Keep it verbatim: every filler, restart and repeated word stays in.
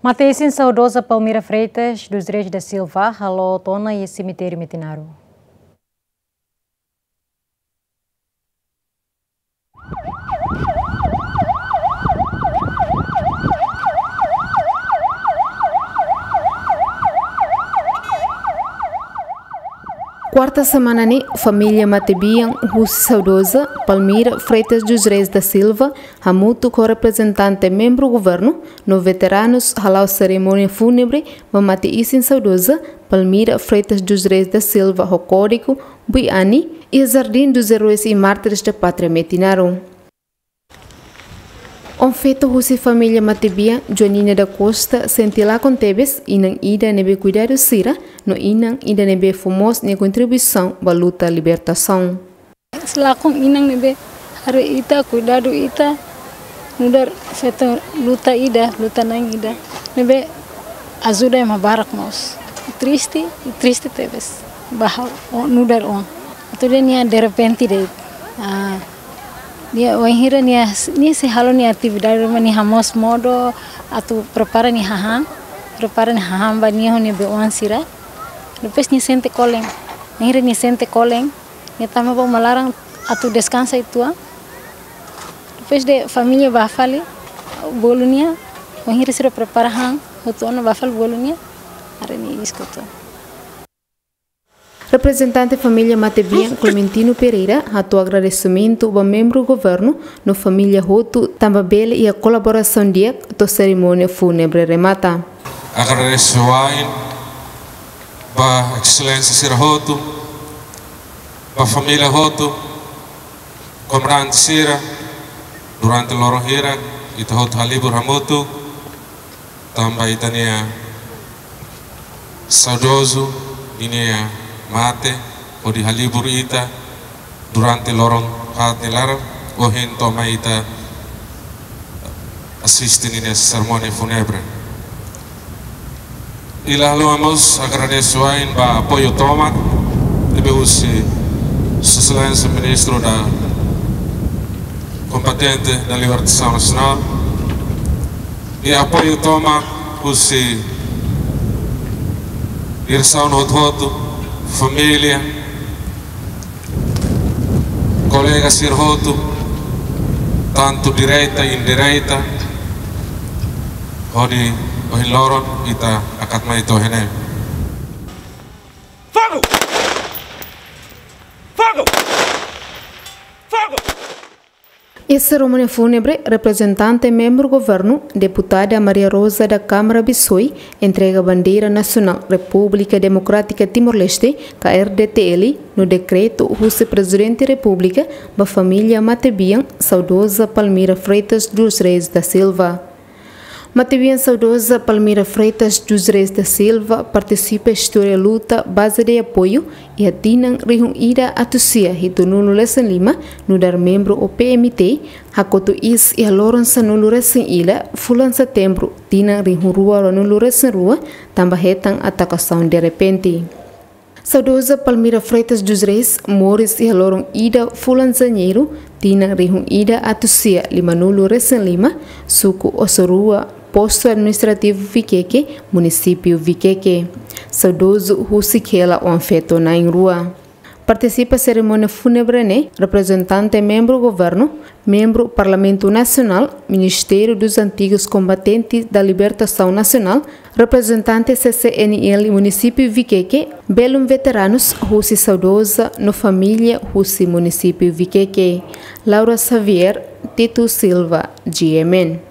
Mate-isin saudoza Palmira Freitas dos Reis da Silva halo tiha ona iha semitériu Metinaro. Kuarta semana ne'e, família matebian husi saudoza Palmira Freitas dos Reis da Silva, hamutuk ho reprezentante membru governu no veteranus, hala'o serimónia fúnebre ba mate-isin saudoza Palmira Freitas dos Reis da Silva ho kódigu Buiani, iha Jardim dos Heróis e Mártires da Pátria Metinaro. Oan-feto husi família matebian, Joanina da Costa, sente lakon tebes inan ida ne'ebé kuidadu sira, no inan ida ne'ebé fó mós nia kontribuisaun ba luta libertasaun. Sei lakon inan ne'ebé haree ita, kuidadu ita, nu'udar feto luta ida, luta-na'in ida, ne'ebé ajuda ema barak mós. Triste, triste tebes. Ba ha'u, o, nu'udar oan. Atu dehan nia derrepente de'it. Ah, nia wainhira nia, nia sei halo nia atividade ruma, nia hamoos modo atu prepara nia hahán, prepara nia hahán ba nia ho nia be-oan sira. Depois nia sente kolen. Wainhira nia sente kolen, nia tama ba uma laran atu deskansa uitoan. Depois de família bá fali bolu nia, wainhira sira prepara han hotu ona, bá fali bolu nia, haree nia iis hotu. Reprezentante família matebian, Clementino Pereira, hato'o agradesimentu ba membru governu no família hotu, tanba bele iha kolaborasaun di'ak to'o serimónia fúnebre remata. Agradese wa'in ba exelénsia sira hotu, ba família hotu, komandante sira, durante loron hira ita hotu halibur hamutuk, tanba ita-nia saudozu ninia mate hodi halibur ita durante loron haat nia laran, ohin to'o mai ita asiste ninia serimónia fúnebre. I la haluha mós agradese wa'in ba apoiu tomak ne'ebé husi Sua Exelénsia Ministru da Kompetente da Libertasaun Nasionál, i apoiu tomak husi diresaun hotu-hotu, família, kolega sira hotu, tantu direta, indireta, hodi ohin loron ita hakat mai to'o iha ne'e. Fogo! Fogo! Fogo! Iha serimónia fúnebre, reprezentante membru governu, deputada Maria Rosa da Câmara Bissoy, entrega bandeira nasionál Repúblika Demokrátika Timor-Leste, ka R D T L, no dekretu husi Prezidente Repúblika ba família matebian saudoza Palmira Freitas dos Reis da Silva. Matebian saudoza Palmira Freitas dos Reis da Silva partisipa istória luta Base de Apoio iha tinan rihun ida atus sia hitunulu resin lima, nu'udar membru O P M T, hakotu iis iha loron sanulu resin ida, fulan setembru, tinan rihun rua ruanulu resin rua, tanba hetan atakasaun derrepente. Saudoza Palmira Freitas dos Reis moris iha loron ida fulan Janeiru, tinan rihun ida atus sia limanulu resin lima, suku Oso Rua, postu administrativu Viqueque, munisípiu Viqueque. Saudozu husik hela oan-feto na'in-rua. Partisipa serimónia fúnebre ne'e reprezentante membru governu, membru Parlamentu Nasionál, Ministériu dos Antigos Combatentes da Libertação Nacional, reprezentante C C N L munisípiu Viqueque, belun veteranus husi saudoza no família husi munisípiu Viqueque. Laura Xavier, Tito Silva, G M N.